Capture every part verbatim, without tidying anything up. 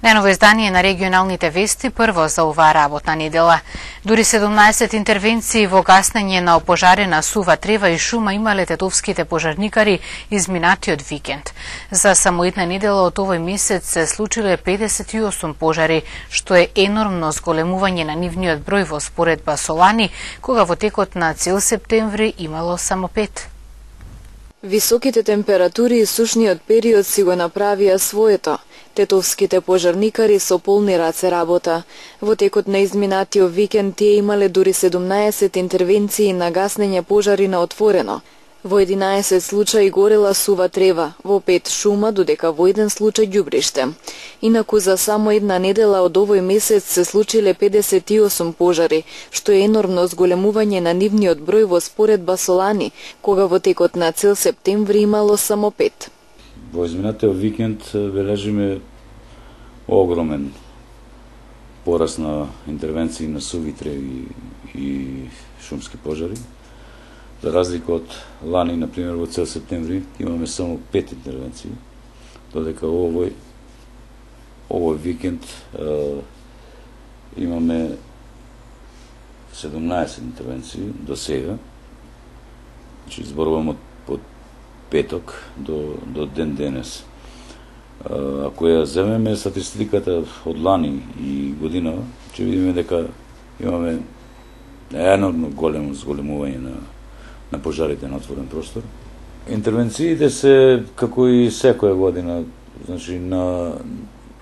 Најново издание на регионалните вести прво за оваа работна недела. Дури седумнаесет интервенции во гаснење на опожарена сува трева и шума имале тетовските пожарникари изминатиот викенд. За само една недела од овој месец се случиле педесет и осум пожари, што е енормно зголемување на нивниот број во споредба со лани, кога во текот на цел септември имало само пет. Високите температури и сушниот период си го направија своето. Тетовските пожарникари со полни раце работа. Во текот на изминатиот викенд тие имале дури седумнаесет интервенции на гаснење пожари на отворено. Во единаесет случаи горела сува трева, во пет шума, додека во еден случај ѓубриште. Инаку за само една недела од овој месец се случиле педесет и осум пожари, што е енормно зголемување на нивниот број во споредба со лани, кога во текот на цел септември имало само пет. Во изминатиот викенд бележиме огромен пораст на интервенции на суви треви и шумски пожари. За разлика од лани, например, во цел септември имаме само пет интервенции, додека овој овој викенд е, имаме седумнаесет интервенции до сега. Значи зборувам од, од петок до, до ден денес. Ако ја земеме статистиката од лани и годинава, ќе видиме дека имаме енормно големо зголемување на на пожарите на отворен простор. Интервенциите се како и секоја година, значи на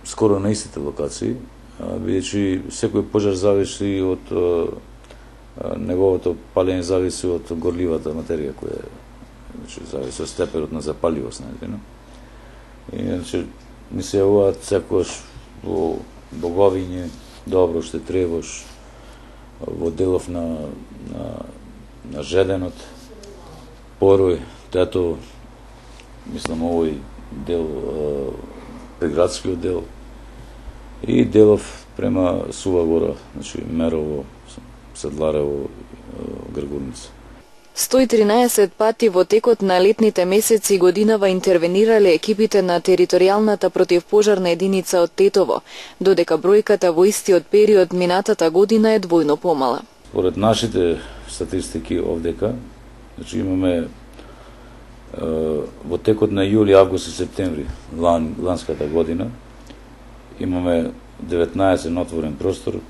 скоро на истите локации, бидејќи секој пожар зависи од неговото палење, зависи од горливата материја која е, значи зависи од степенот на запаливост, најдено. И значи ми се јавуваат секогаш во боговиње, добро ще требаш, во делов на на на жеденот, порој, тето, мислам, овој дел, приградскиот дел, и делов према Сува Гора, значи Мерово, Седларево, Гргурница. сто и тринаесет пати во текот на летните месеци годинава интервенирале екипите на територијалната противпожарна единица од Тетово, додека бројката во истиот период минатата година е двојно помала. Според нашите статистики овдека, значи имаме е, во текот на јули, август и септември лан, ланската година, имаме деветнаесет на отворен простор,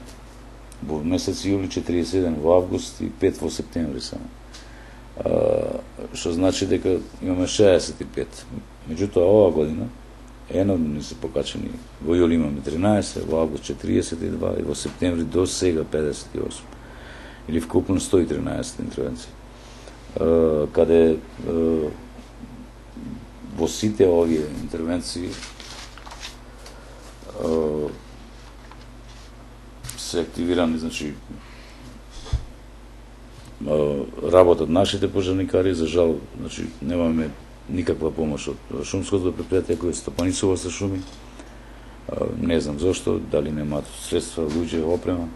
во месец јули четириесет и еден во август и пет во септември само. Е, што значи дека имаме шеесет и пет. Меѓутоа оваа година енормно не се покачени. Во јули имаме тринаесет, во август четириесет и два и во септември до сега педесет и осум. Или вкупно сто и тринаесет интервенции. Uh, каде uh, во сите овие интервенции uh, се активирани, значи uh, работат нашите пожарникари. За жал, значи немаме никаква помош од шумското предпријатие кој стопанисува со шуми. Uh, не знам зошто, дали немаат средства, луѓе, опрема.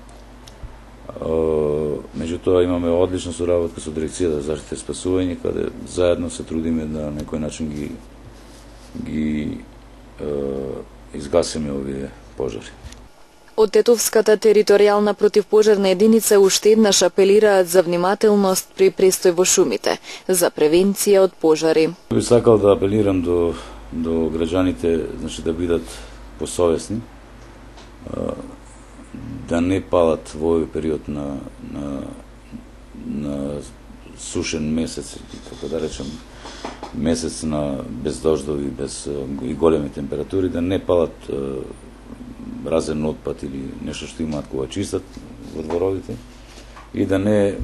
Uh, меѓутоа имаме одлична соработка со дирекцијата за заштита и спасување, каде заедно се трудиме да на некој начин ги ги uh, изгасиме овие пожари. Од Тетовската територијална противпожарна единица уште еднаш апелираат за внимателност при престој во шумите, за превенција од пожари. Би сакал да апелирам до до граѓаните, значи да бидат посовесни, uh, да не палат во овој период на, на, на сушен месец, како да речем, месец на без дождови, без и големи температури, да не палат е, разен отпад или нешто што имаат кога чистат во дворовите, и да не, е,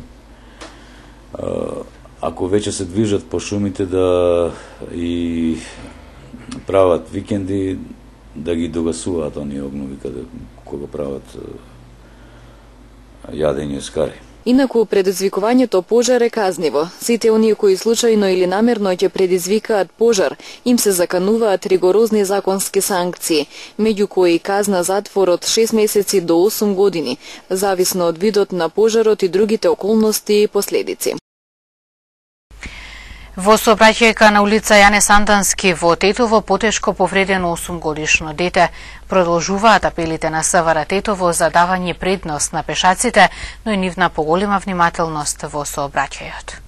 ако веќе се движат по шумите, да и прават викенди, да ги догасуваат оние огнови каде кога прават јадење скари. Инаку предизвикувањето пожар е казниво. Сите оние кои случајно или намерно ќе предизвикаат пожар, им се закануваат ригорозни законски санкции, меѓу кои казна затвор од шест месеци до осум години, зависно од видот на пожарот и другите околности и последици. Во сообраќајка на улица Јане Сандански во Тетово потешко повредено осумгодишно дете. Продолжуваат апелите на СВР Тетово за давање предност на пешаците, но и нивна поголема внимателност во сообраќајот.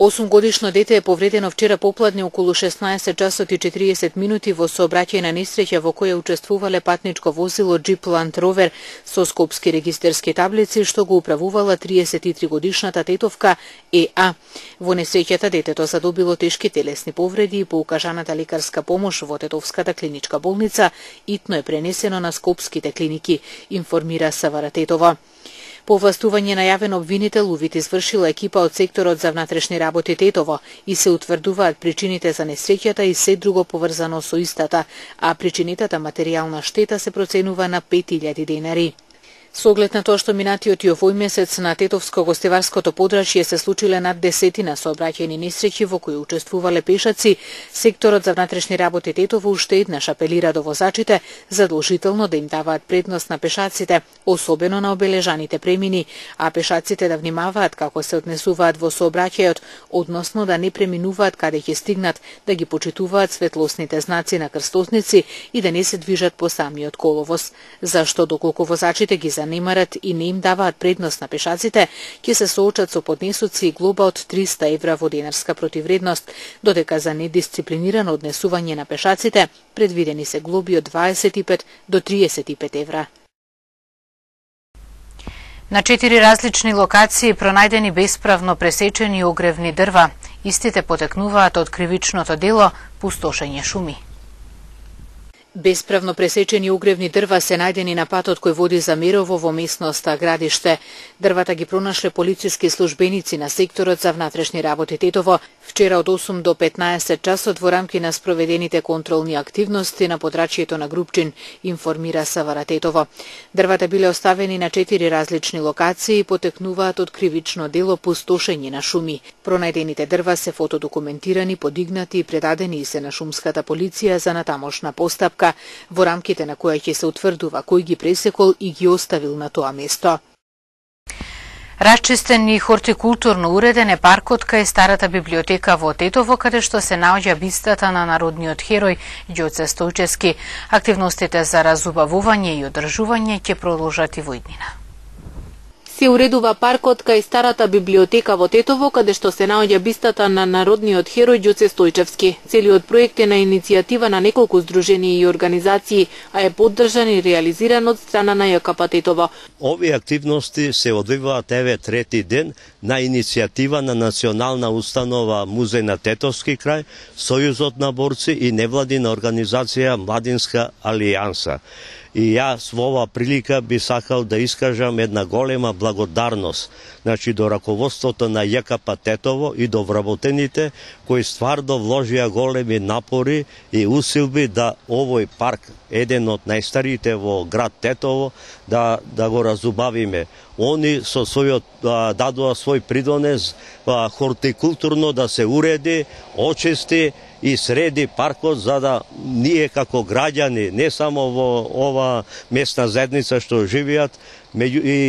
осумгодишно дете е повредено вчера попладне околу шеснаесет часот и четириесет минути во сообраќајна несреќа во која учествувале патничко возило Jeep Land Rover со скопски регистерски таблици што го управувала триесет и три годишната тетовка Е А. Во несреќата детето задобило тешки телесни повреди и по укажаната лекарска помош во Тетовската клиничка болница итно е пренесено на скопските клиники, информира СВР Тетово. По властување најавен обвинител, увид извршила екипа од секторот за внатрешни работи Тетово и се утврдуваат причините за несреќата и се друго поврзано со истата, а причинетата материјална штета се проценува на пет илјади денари. Со оглед на тоа што минатиот и овој месец на Тетовско-гостеварското подрачје се случиле над десетина сообраќајни несреќи во кои учествувале пешаци, секторот за внатрешни работи Тетово уште еднаш апелира до возачите задолжително да им даваат предност на пешаците, особено на обележаните премини, а пешаците да внимаваат како се однесуваат во сообраќајот, односно да не преминуваат каде ќе стигнат, да ги почитуваат светлосните знаци на крстосници и да не се движат по самиот коловоз. Зашто доколку возачите ги занимарат и не им даваат предност на пешаците, ќе се соочат со поднесоци и глоба од триста евра во денарска противредност, додека за недисциплинирано однесување на пешаците предвидени се глоби од дваесет и пет до триесет и пет евра. На четири различни локации пронајдени бесправно пресечени огревни дрва. Истите потекнуваат од кривичното дело пустошење шуми. Бесправно пресечени огревни дрва се најдени на патот кој води за Мерово во местноста Градиште. Дрвата ги пронашле полициски службеници на секторот за внатрешни работи Тетово вчера од осум до петнаесет часот во рамки на спроведените контролни активности на подрачјето на Групчин, информира СВР Тетово. Дрвата биле оставени на четири различни локации и потекнуваат од кривично дело пустошење на шуми. Пронајдените дрва се фотодокументирани, подигнати и предадени и се на шумската полиција за натамошна постапка, во рамките на која ќе се утврдува кој ги пресекол и ги оставил на тоа место. Расчистен и хортикултурно уреден е паркот кај старата библиотека во Тетово, каде што се наоѓа бистата на народниот херој Ѓоце Стојчевски. Активностите за разубавување и одржување ќе продолжат и во иднина. Се уредува паркот кај старата библиотека во Тетово, каде што се наоѓа бистата на народниот херој Ѓоце Стојчевски. Целиот проект е на иницијатива на неколку здруженија и организации, а е поддржан и реализиран од страна на Ја К П Тетово. Овие активности се одвиваат еве трети ден на иницијатива на Национална установа Музеј на Тетовски крај, Сојузот на борци и невладина организација Младинска алијанса. И јас во ова прилика би сакал да искажам една голема благодарност, значи до раководството на Ја К П Тетово и до вработените кои стварно вложија големи напори и усилби да овој парк, еден од најстарите во град Тетово, да да го разубавиме. Они со својот дадоа свој придонес хортикултурно да се уреди, очисти и среди паркот, за да ние како граѓани, не само во ова местна заедница што живеат, меѓу и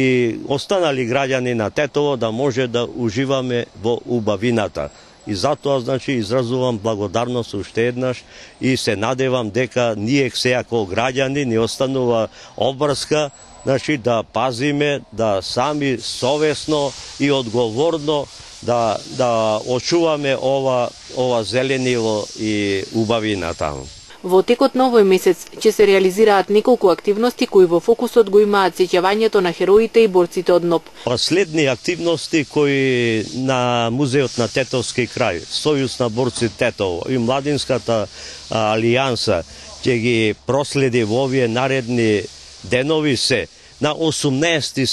останали граѓани на Тетово, да може да уживаме во убавината. И затоа, значи, изразувам благодарност уште еднаш и се надевам дека ние сега како граѓани ни останува обврска, значи, да пазиме, да сами совесно и одговорно да да очуваме ова ова зеленило и убавина таму. Во текот на овој месец ќе се реализираат неколку активности кои во фокусот го имаат сеќавањето на хероите и борците од НОП. Последни активности кои на Музеот на Тетовски крај, Сојуз на борци Тетово и Младинската алијанса ќе ги проследи во овие наредни денови се на осумнаесети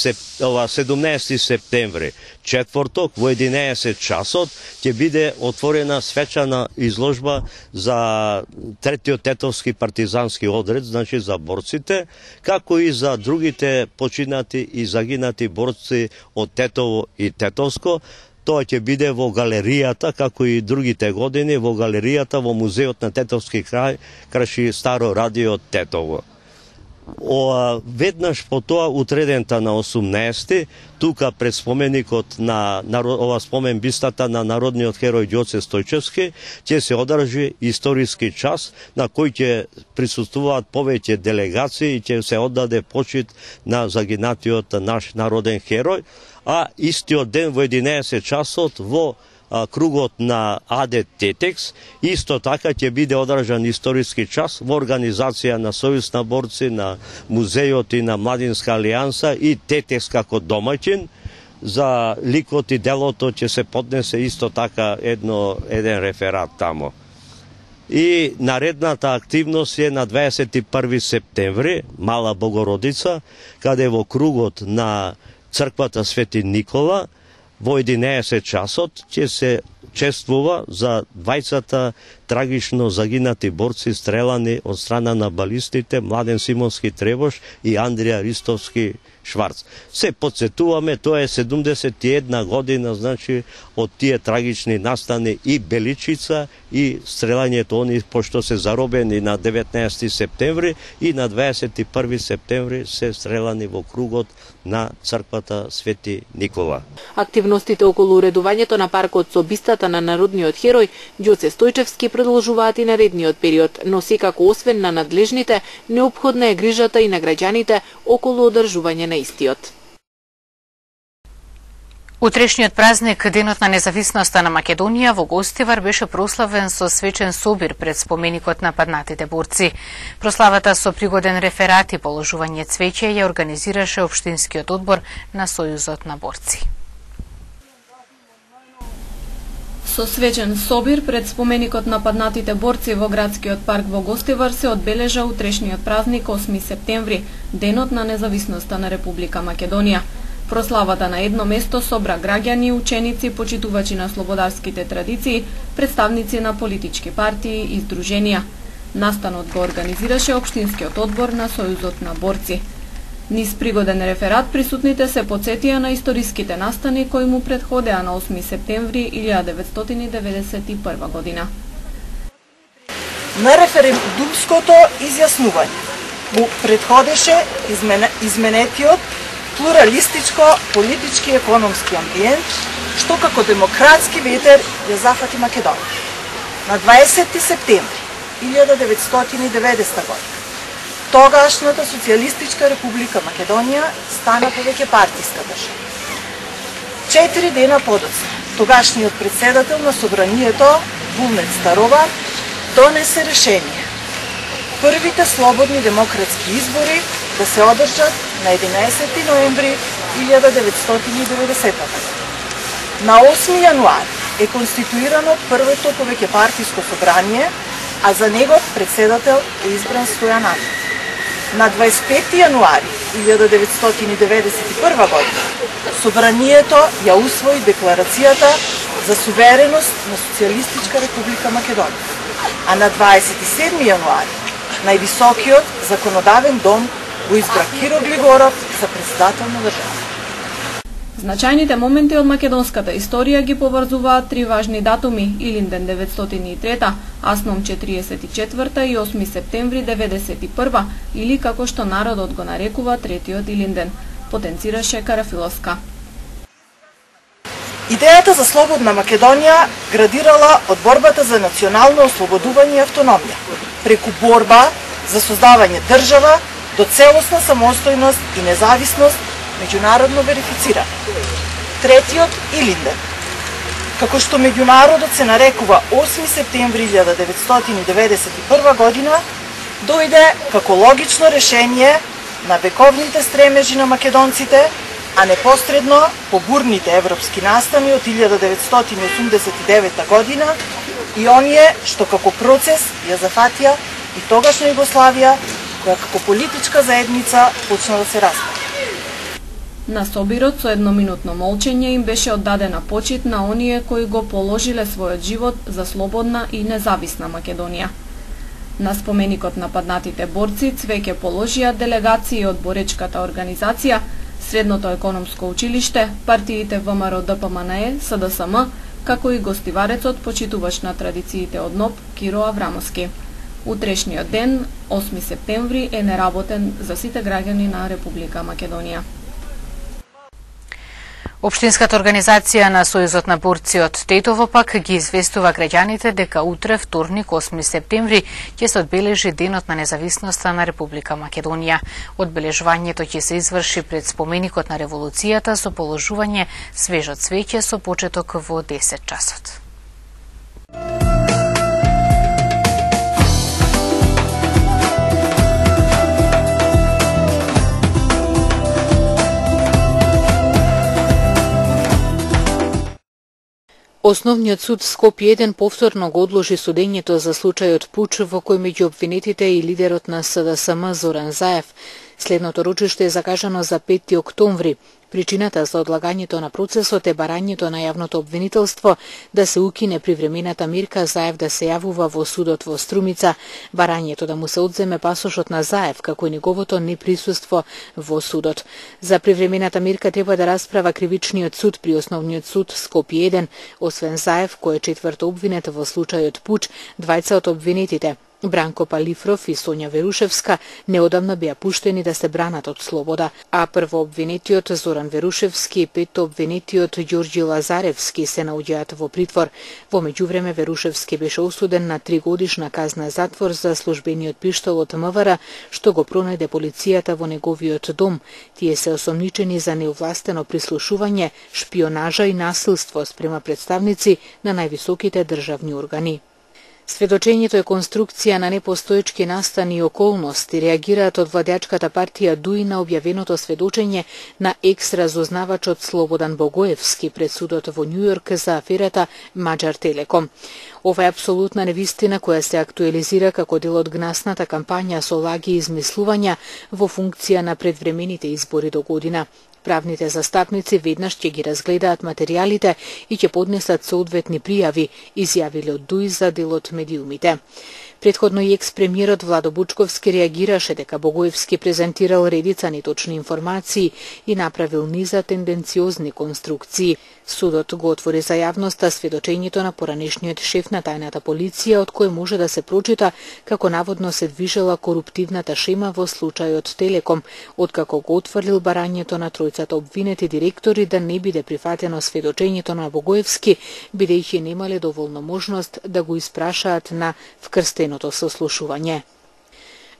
седумнаесети септември, четврток во единаесет часот ќе биде отворена свечана изложба за третиот Тетовски партизански одред, значи за борците, како и за другите починати и загинати борци од Тетово и Тетовско. Тоа ќе биде во галеријата, како и другите години, во галеријата во Музеот на Тетовски крај, краши Старо радио Тетово. О, веднаш по тоа утредента на осумнаесети, тука пред споменикот на, на ова спомен бистата на народниот херој Ѓоце Стојчевски, ќе се одржи историски час на кој ќе присуствуваат повеќе делегации и ќе се оддаде почит на загинатиот наш народен херој, а истиот ден во единаесет часот во кругот на АД Тетекс, исто така ќе биде одржан историски час во организација на Сојуз на борци, на музејот и на Младинска алијанса и Тетекс како домаќин. За ликот и делото ќе се поднесе исто така едно, еден реферат тамо. И наредната активност е на дваесет и први септември, Мала Богородица, каде во кругот на црквата Свети Никола во единаесет часот ќе се чествува за двајцата трагично загинати борци стрелани од страна на балистите Младен Симонски Требош и Андрија Ристовски Шварц. Се подсетуваме, тоа е седумдесет и една година, значи, од тие трагични настани и Беличица и стрелањето они, пошто се заробени на деветнаесети септември и на дваесет и први септември се стрелани во кругот на црквата Свети Никола. Активностите околу уредувањето на паркот со бистата на народниот херој Ѓоце Стојчевски продолжуваат и наредниот период, но секако освен на надлежните, неопходна е грижата и на граѓаните околу одржување на истиот. Утрешниот празник, Денот на независноста на Македонија, во Гостивар беше прославен со свечен собир пред споменикот на паднатите борци. Прославата со пригоден реферат и положување цвеќе ја организираше Општинскиот одбор на Сојузот на борци. Со свечен собир пред споменикот на паднатите борци во градскиот парк во Гостивар се одбележа утрешниот празник осми септември, Денот на независноста на Република Македонија. Прославата на едно место собра граѓани, ученици, почитувачи на слободарските традиции, представници на политички партии и здруженија. Настанот го организираше Општинскиот одбор на Сојузот на борци. Низ пригоден реферат присутните се потсетија на историските настани кои му претходеа на осми септември илјада деветстотини деветдесет и прва година. На референдумското изјаснување му претходеше измене, изменетиот плуралистичко политички и економски амбиент, што како демократски ветер ја зафати Македонија. На дваесети септември илјада деветстотини и деветдесета година тогашната Социјалистичка република Македонија стана повеќе партиска држава. Четири дена подоцна, тогашниот председател на собранието Вулнет Старова донесе решение првите слободни демократски избори да се одржат на единаесети ноември илјада деветстотини и деветдесета година. На осми јануари е конституирано првото повеќепартиско собрание, а за негов председател е избран Стојан Андриć. На дваесет и пети јануари илјада деветстотини деветдесет и прва година собранието ја усвои декларацијата за сувереност на Социјалистичка република Македонија, а на дваесет и седми јануари највисокиот законодавен дом го избра Киро Глигоров за председател на државата. Значајните моменти од македонската историја ги поврзуваат три важни датуми: Илинден деветстотини и трета, Асном четириесет и четврта и осми септември деветдесет и прва, или како што народот го нарекува третиот Илинден, потенцираше Карафиловска. Идејата за слободна Македонија градирала од борбата за национално ослободување и автономија, преку борба за создавање држава до целосна самостојност и независност меѓународно верифицирана. Третиот Илинден, како што меѓународот се нарекува осми септември илјада деветстотини деветдесет и прва година, дојде како логично решение на вековните стремежи на македонците, а непосредно по бурните европски настани од илјада деветстотини осумдесет и девета година и оние што како процес ја зафатија и тогашна Југославија, која како политичка заедница почна да се распада. На собирот со едноминутно молчење им беше оддадена почит на оние кои го положиле својот живот за слободна и независна Македонија. На споменикот на паднатите борци цвеќе положија делегации од боречката организација, Средното економско училиште, партиите ВМРО Д П М Н Е, С Д С М, како и гостиварецот почитувач на традициите од НОП Киро Аврамовски. Утрешниот ден, осми септември, е неработен за сите граѓани на Република Македонија. Општинската организација на Сојузот на борци од Тетово пак ги известува граѓаните дека утре, вторник, осми септември, ќе се одбележи Денот на независноста на Република Македонија. Одбележувањето ќе се изврши пред споменикот на револуцијата со положување свежо цвеќе со почеток во десет часот. Основниот суд Скопје еден повторно го одложи судењето за случајот пуч во кој меѓу обвинетите и лидерот на С Д С М Зоран Заев. Следното рочиште е закажано за пети октомври. Причината за одлагањето на процесот е барањето на јавното обвинителство да се укине привремената мирка Заев да се јавува во судот во Струмица, барањето да му се одземе пасошот на Заев, како и неговото неприсуство во судот. За привремената мирка треба да расправа кривичниот суд при Основниот суд Скопје еден, освен Заев, кој е четврто обвинет во случајот пуч, двајца од обвинетите, Бранко Палифров и Сонја Верушевска, неодамна беа пуштени да се бранат од слобода, а првообвинетиот Зоран Верушевски и петто обвинетиот Ѓорѓи Лазаревски се наоѓаат во притвор. Во меѓувреме Верушевски беше осуден на три годишна казна затвор за службениот пиштол од М В Р, што го пронајде полицијата во неговиот дом. Тие се осомничени за неовластено прислушување, шпионажа и насилство спрема представници на највисоките државни органи. Сведочењето е конструкција на непостоечки настани и околности, реагираат од владеачката партија ДУИ на објавеното сведочење на екс-разузнавачот Слободан Богоевски пред судот во Њујорк за аферата Маđар Телеком. Ова е апсолутна невистина која се актуализира како дел од гнасната кампања со лаги и измислувања во функција на предвремените избори до година. Правните застапници веднаш ќе ги разгледаат материјалите и ќе поднесат соодветни пријави, изјавиле од ДУИ за делот медиумите. Предходно и екс-премиерот Владо Бучковски реагираше дека Богоевски презентирал редица неточни информации и направил низа тенденциозни конструкции. Судот го отвори за јавноста сведочењето на поранешниот шеф на тајната полиција, од кој може да се прочита како наводно се движела коруптивната шема во случајот Телеком, откако го отфрлил барањето на тројцата обвинети директори да не биде прифатено сведочењето на Богоевски, бидејќи немале доволно можност да го испрашаат на вкрстеното сослушување.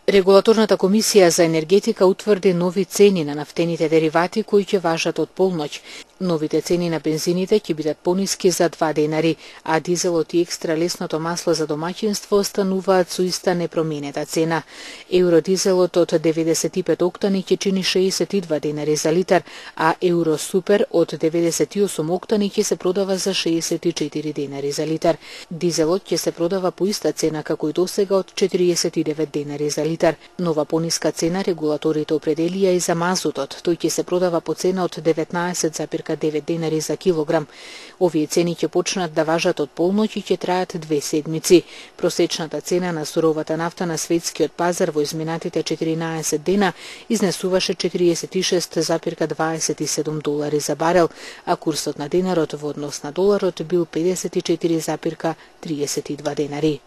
Регулаторната комисија за енергетика утврди нови цени на нафтените деривати кои ќе важат од полноќ. Новите цени на бензините ќе бидат пониски за два денари, а дизелот и екстра лесното масло за домаќинство остануваат со иста непроменета цена. Евродизелот од деветдесет и пет октани ќе чини шеесет и два денари за литар, а Евросупер од деветдесет и осум октани ќе се продава за шеесет и четири денари за литар. Дизелот ќе се продава по иста цена како и досега од четириесет и девет денари за литар. Нова пониска цена регулаторите определија и за мазутот. Тој ќе се продава по цена од деветнаесет зарез девет денари за килограм. Овие цени ќе почнат да важат од полноќ и ќе траат две седмици. Просечната цена на суровата нафта на светскиот пазар во изминатите четиринаесет дена изнесуваше четириесет и шест зарез дваесет и седум долари за барел, а курсот на денарот во однос на доларот бил педесет и четири зарез триесет и два денари.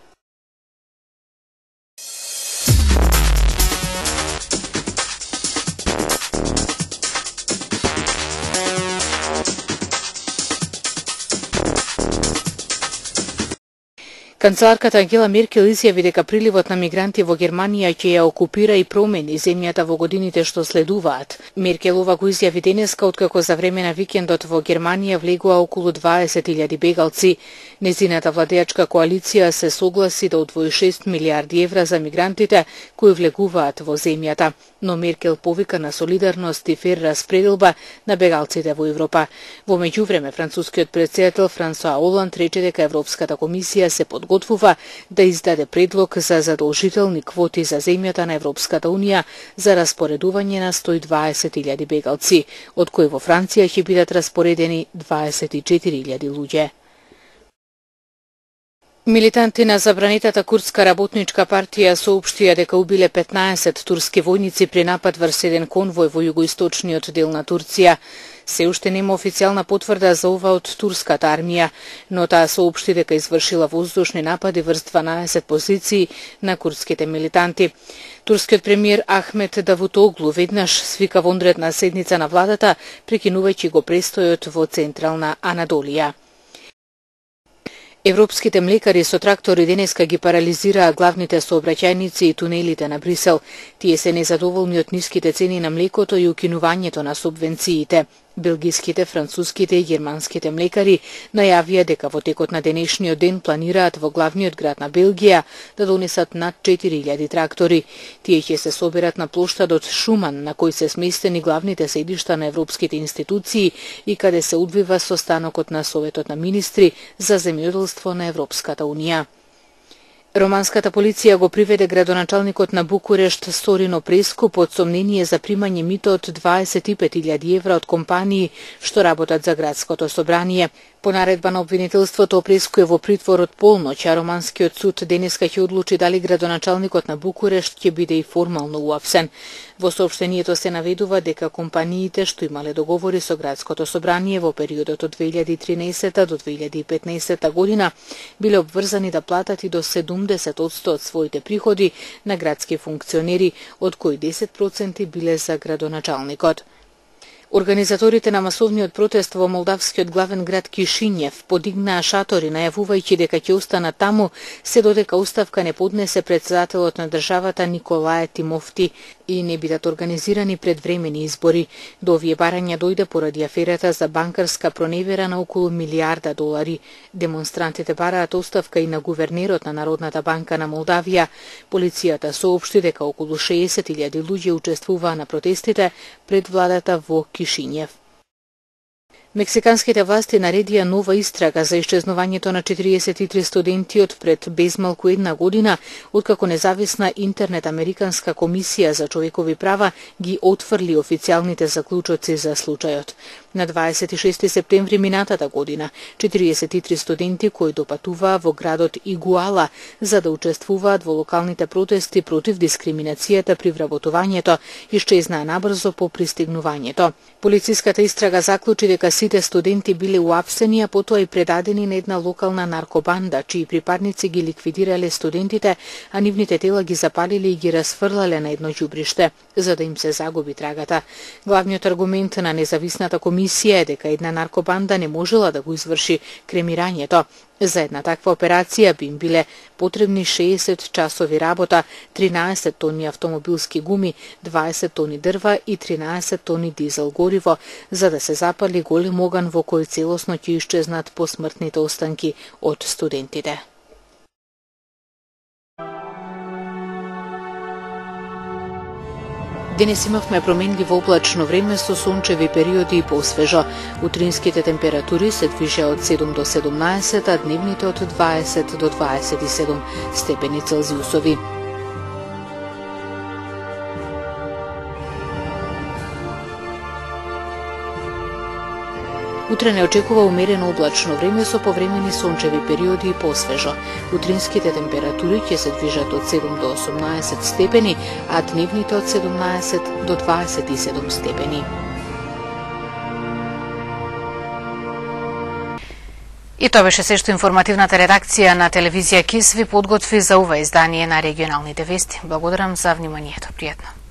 Канцеларката Ангела Меркел изјави дека приливот на мигранти во Германија ќе ја окупира и промени земјата во годините што следуваат. Меркелова го изјави денеска откако за време на викендот во Германија влегува околу дваесет илјади бегалци. Незината владеачка коалиција се согласи да одвои шест милијарди евра за мигрантите кои влегуваат во земјата, но Меркел повика на солидарност и фер распределба на бегалците во Европа. Во меѓувреме, францускиот претседател Франсуа Оланд рече дека Европската комисија се подготвува да издаде предлог за задолжителни квоти за земјата на Европската унија за распоредување на сто и дваесет илјади бегалци, од кои во Франција ќе бидат распоредени дваесет и четири илјади луѓе. Милитанти на забранетата курдска работничка партија соопштија дека убиле петнаесет турски војници при напад врз еден конвој во југоисточниот дел на Турција. Се уште нема официјална потврда за ова од турската армија, но таа соопшти дека извршила воздушни напади врз дванаесет позиции на курдските милитанти. Турскиот премиер Ахмет Давутоглу веднаш свика вонредна седница на владата, прекинувајќи го престојот во Централна Анадолија. Европските млекари со трактори денеска ги парализираа главните сообраќајници и тунелите на Брисел. Тие се незадоволни од ниските цени на млекото и укинувањето на субвенциите. Белгиските, француските и германските млекари најавија дека во текот на денешниот ден планираат во главниот град на Белгија да донесат над четири илјади трактори. Тие ќе се соберат на плоштадот Шуман, на кој се сместени главните седишта на европските институции и каде се одвива состанокот на Советот на министри за земјоделство на Европската унија. Романската полиција го приведе градоначалникот на Букурешт Сторино Преску под сомнение за примање мито од дваесет и пет илјади евра од компании што работат за градското собрание. По наредба на обвинителството, Преску е во притвор од полноќ, а романскиот суд денеска ќе одлучи дали градоначалникот на Букурешт ќе биде и формално уапсен. Во соопштението се наведува дека компаниите што имале договори со градското собрание во периодот од две илјади и тринаесета до две илјади и петнаесета година биле обврзани да платат и до седумдесет одсто од своите приходи на градски функционери, од кои десет проценти биле за градоначалникот. Организаторите на масовниот протест во молдавскиот главен град Кишињев подигнаа шатори најавувајќи дека ќе останат таму се додека оставка не поднесе претседателот на државата Николај Тимофти и не бидат организирани предвремени избори. До овие барања дојде поради аферата за банкарска проневера на околу милијарда долари. Демонстрантите бараат оставка и на гувернерот на Народната банка на Молдавија. Полицијата соопшти дека околу шеесет илјади луѓе учествуваа на протестите пред владата во Кишињев. Мексиканските власти наредија нова истрага за исчезнувањето на четириесет и три студенти од пред безмалку една година, откако независна интернет американска комисија за човекови права ги отфрли официјалните заклучоци за случајот. На дваесет и шести септември минатата година, четириесет и три студенти кои допатуваа во градот Игуала за да учествуваат во локалните протести против дискриминацијата при вработувањето, исчезнаа набрзо по пристигнувањето. Полициската истрага заклучи дека сите студенти биле уапсени, а потоа и предадени на една локална наркобанда, чии припадници ги ликвидирале студентите, а нивните тела ги запалиле и ги расфрлале на едно ѓубриште, за да им се загуби трагата. Главниот аргумент на независната комисија е дека една наркобанда не можела да го изврши кремирањето. За една таква операција би им биле потребни шеесет часови работа, тринаесет тони автомобилски гуми, дваесет тони дрва и тринаесет тони дизел гориво, за да се запали голем оган во кој целосно ќе исчезнат посмртните останки од студентите. Денес имавме променливо облачно време со сончеви периоди и посвежо. Утринските температури се движеа од седум до седумнаесет, а дневните од дваесет до дваесет и седум степени Целзиусови. Утре не очекува умерено облачно време со повремени сончеви периоди и посвежо. Утринските температури ќе се движат од седум до осумнаесет степени, а дневните од седумнаесет до дваесет и седум степени. И тоа беше се што информативната редакција на телевизија КИС ви подготви за ова издание на регионалните вести. Благодарам за вниманието. Пријатно.